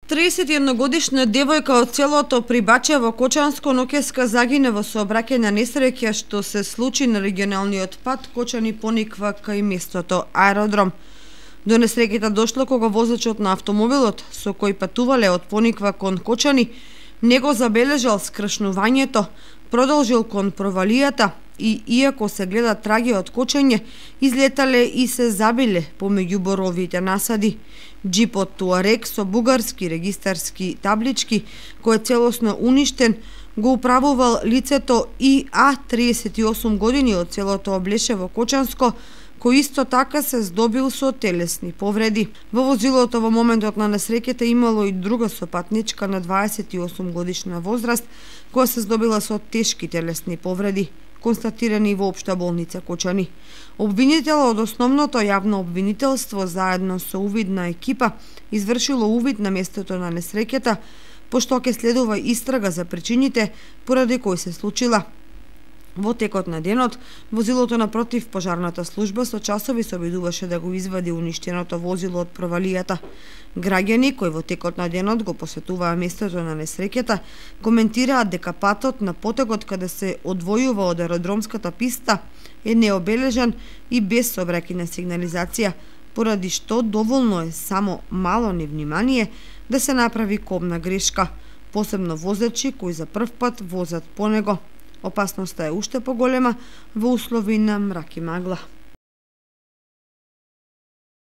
31-годишна девојка од селото Прибаче во Кочанско ноќеска загине во сообраќајна несреќа што се случи на регионалниот пат Кочани-Пониква кај местото аеродром. До несреќата дошло кога возачот на автомобилот со кој патувале од Пониква кон Кочани не го забележал скршнувањето, продолжил кон провалијата и иако се гледа траги од кочење, излетале и се забиле помеѓу боровите насади. Джипот Туарек со бугарски регистарски таблички, кој е целосно уништен, го управувал лицето ИА 38 години од селото Облешево Кочанско, кој исто така се здобил со телесни повреди. Во возилото во моментот на несреќата имало и друга сопатничка на 28 годишна возраст, која се здобила со тешки телесни повреди, констатирани во Општа болница Кочани. Обвинител од основното јавно обвинителство заедно со увидна екипа извршило увид на местото на несреќата, пошто ќе следува истрага за причините поради кои се случила. Во текот на денот, возилото на противпожарната служба со часови се обидуваше да го извади уништеното возило од провалијата. Граѓани кои во текот на денот го посетуваа местото на несреќата, коментираат дека патот на потегот каде се одвојува од аеродромската писта е необележан и без сообраќајна сигнализација, поради што доволно е само мало невнимание да се направи кобна грешка, посебно возачи кои за прв пат возат по него. Опасноста е уште поголема во услови на мрак и магла.